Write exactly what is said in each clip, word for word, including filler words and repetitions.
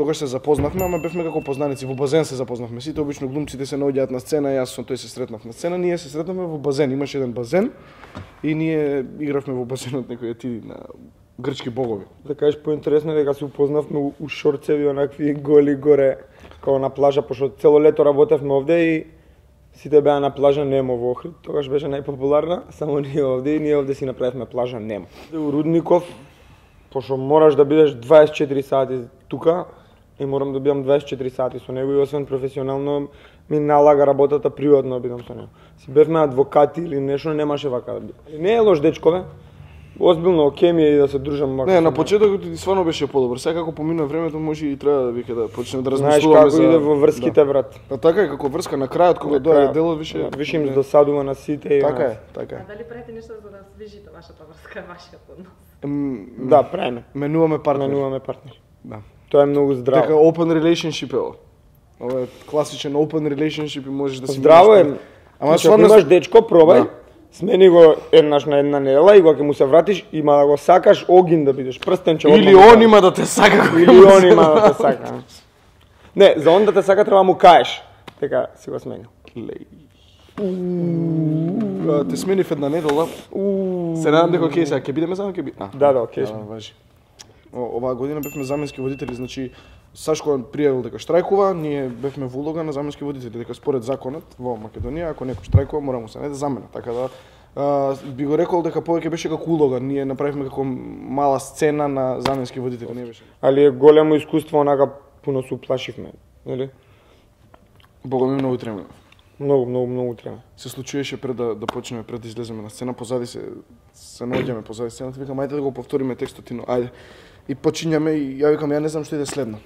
тогаш се запознавме, ама бевме како познаници, во базен се запознавме. Сите обично глумците се наоѓаат на сцена, јас со тој се сретнав на сцена, ние се сретнавме во базен, имаше еден базен и ние игравме во базенот некои ти на грчки богови. Да кажеш поинтересно дека се упознавме у, у шорцеви онакви голи горе, како на плажа, пошто цело лето работевме овде и сите беа на плажа Немо во Охрид. Тогаш беше најпопуларна, само ние овде и ние овде си направивме плажа Немо. У Рудников, пошто мораш да бидеш дваесет и четири сати тука, и морам да бидам дваесет и четири сати со него и освен професионално ми налага работата приватно да бидам со него. Си бевме адвокати или нешто, немаше вака да биде. Не е лош дечкове. Озбилно окей ми е и да се дружам вака. Не, на почетокот ти стварно беше подобар. Сега како помина времето може и треба да вика да почнеме да размислуваме за... Знаеш како за... иде во врските, да. Брат. А така е, како врска на крајот кога доаѓа делот више више им досадува на сите и така е, така е. А дали правите нешто за да свижите вашата врска, вашиот однос? Да, правиме. Менуваме партнери. Менуваме партнери. Да. Тоа е многу здраво. Така open relationship е ова. Ова е класичен open relationship и можеш да си здраво е. Ама стварно имаш дечко, пробај. Да. Смени го еднаш на една недела и кога ќе му се вратиш, има да го сакаш огин да бидеш прстенче. Или он има да те сака. Или он има да те сака. Не, за он да те сака треба му каеш. Така си го сменил. Те сменив една недела. Се надам дека окей, сега ќе бидеме заедно, ќе би. Да, да, окей. Важи. Оваа година бевме заменски водители, значи Сашко пријавил дека штрајкува, ние бевме во улога на заменски водители, дека според законот во Македонија ако некој штрајкува мора му се најде замена, така да а, би го рекол дека повеќе беше како улога, ние направивме како мала сцена на заменски водители, не беше. Али е големо искуство, онака пуно се уплашивме, нели? Бога ми многу трема. Многу, многу, многу трема. Се случуваше пред да да почнеме, пред да излеземе на сцена, позади се се наоѓаме позади сцената, викам ајде да го повториме текстот, но ајде. И почињаме и ја викам ја не знам што иде следно.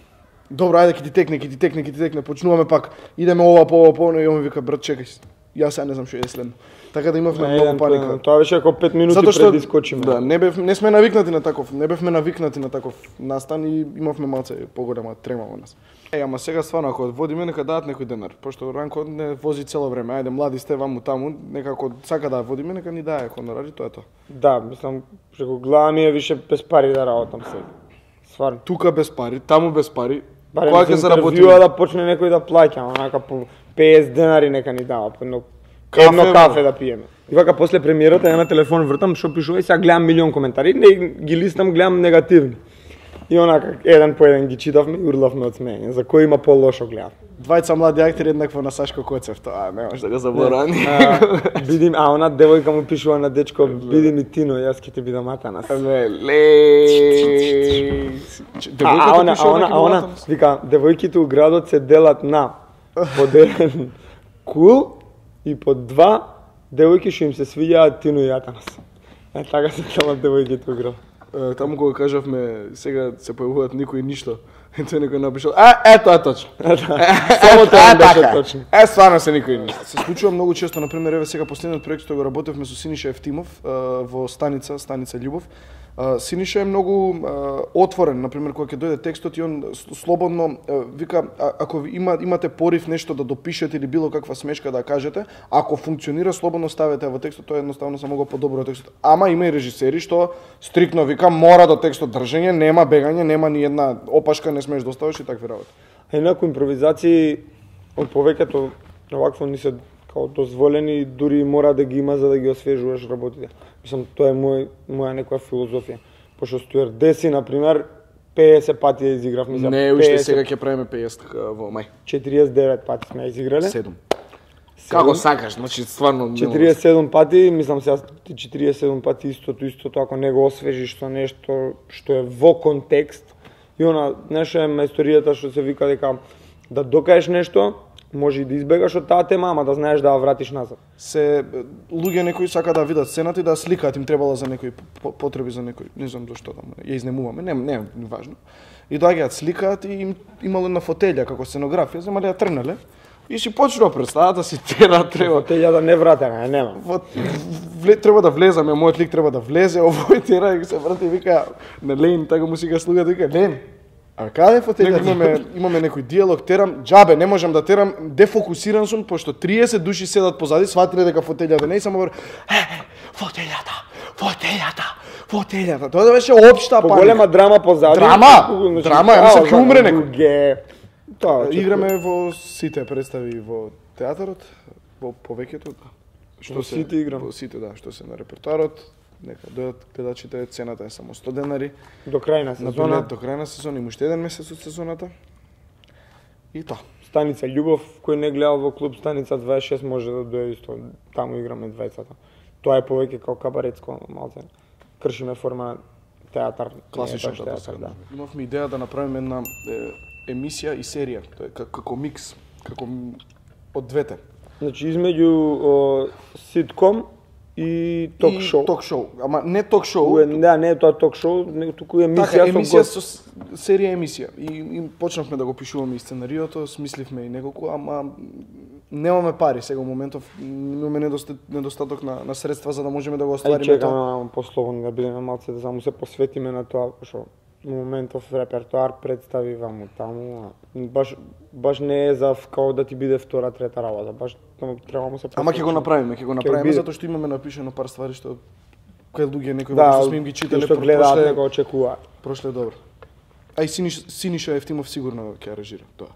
Добро, ајде ќе ти текне, ќе ти текне, ќе ти текне, почнуваме пак. Идеме ова по ова по, и он ми вика брат чекај. Јас сега не знам што иде следно. Така да имавме не, многу паника. Тоа беше како пет минути што, пред да искочиме. Да, не бев не сме навикнати на таков, не бевме навикнати на таков настан и имавме малце поголема трема во нас. Е, ама сега стварно ако водиме нека дадат некој денар, пошто Ранко не вози цело време. Ајде млади сте ваму таму, некако сака да водиме, нека ни дае хонорари, тоа е тоа. Да, мислам, преку глава ми е више без пари да работам сега. Стварно. Тука без пари, таму без пари. Барем кога ќе заработиме да почне некој да плаќа, онака по песет денари нека ни дава, по едно кафе, едно кафе да пиеме. И вака после премиерата ја на телефон вртам што пишува и сега гледам милион коментари, не ги листам, гледам негативни. И онака еден по еден ги читавме и урлавме од смеење, за кој има по-лошо гледав. Двајца млади актери еднакво на Сашко Коцев, тоа не може да го заборавам. Бидим, а она девојка му пишува на дечко, биди ми Тино, јас ќе ти бидам Атанас. Ле. А она, а она, а она, вика, девојките у градот се делат на под еден кул и под два девојки што им се свиѓаат Тино и Атанас. Е така се делат девојките у градот. Таму кога кажавме сега се појавуваат никој ништо. Ето некој напишал, а ето е точно. Само тоа беше точно. Е стварно се никој ништо. Се случува многу често, на пример, еве сега последниот проект што го работевме со Синиша Евтимов во станица, станица Љубов. Синиша е многу отворен, на пример кога ќе дојде текстот и он слободно вика ако има имате порив нешто да допишете или било каква смешка да кажете, ако функционира слободно ставете во текстот, тоа едноставно само го подобрува текстот. Ама има и режисери што стриктно вика мора до текстот држење, нема бегање, нема ни една опашка не смееш да оставиш и такви работи. А инаку импровизации од повеќето овакво ни се као дозволени, дури мора да ги има за да ги освежуваш работите. Мислам, тоа е мој, моја некоја филозофија. Пошто стюардеси, например, песет пати ја изиграв. Мислам, не, уште сега ќе правиме песет во мај. четириесет и девет пати сме изиграле. седум. Како сакаш, значи стварно четириесет и седум пати, мислам сега четириесет и седум пати истото, истото, ако не го освежиш со нешто што е во контекст. И она, нешто е мајсторијата што се вика дека да докажеш нешто, може и да избегаш од таа тема, ама да знаеш да ја вратиш назад. Се луѓе некои сака да видат сцената и да сликаат, им требала за некои потреби за некои, не знам зошто да ја изнемуваме, не не е важно. И доаѓаат сликаат и им имало една фотелја како сценографија, земале ја тргнале. И си почнува представата, си тера треба. Фотелја да не вратена, нема. Вот вле, треба да влезаме, мојот лик треба да влезе, овој тера и се врати и вика на Лен, така му сега слуга вика Лен. А каде фотелјата? Имаме имаме некој диалог, терам, џабе, не можам да терам, дефокусиран сум пошто триесет души седат позади, сватиле дека фотелјата не и само говори, е, фотелјата, фотелјата, Фотелјата, тоа да беше општа паника. Поголема драма позади. Драма, драма, ја мислам ќе умре некој. некој. Тоа, Играме во сите представи во театарот, во повеќето. Што Во се сите играм. Во сите, да, што се на репертоарот. Нека дојдат гледачите, цената е само сто денари. до крај на На сезона. билет до крај на сезона, има уште еден месец од сезоната. И тоа. Станица Љубов, кој не гледал во клуб Станица дваесет и шест може да дојде исто, таму играме двајцата. Тоа е повеќе као кабаретско малце. Кршиме форма театар, Класичен не е баш театар, да. Имавме идеја да направиме една е, емисија и серија, тоа е како, како микс, како м- од двете. Значи измеѓу о, ситком и ток И шоу. Ток шоу, ама не ток шоу. Уе, да, не е тоа ток шоу, него туку емисија Така, со емисија гост. со с- серија емисија. И, и почнавме да го пишуваме и сценариото, смисливме и неколку, ама немаме пари сега во моментов, имаме недоста- недостаток на, на средства за да можеме да го Ај оствариме чекаме тоа. малку послободни да бидеме малце да само се посветиме на тоа, пошто во моментов репертоар представи ваму таму, а баш баш не е за као да ти биде втора, трета работа, баш само треба му се Ама ќе го направиме, ќе го направиме биде. затоа што имаме напишано пар ствари што кои луѓе некои да, што сме им ги читале што про- гледаат прошле, дека очекуваат. прошле добро. А и Синиш, Синиша Ефтимов сигурно ќе аранжира тоа.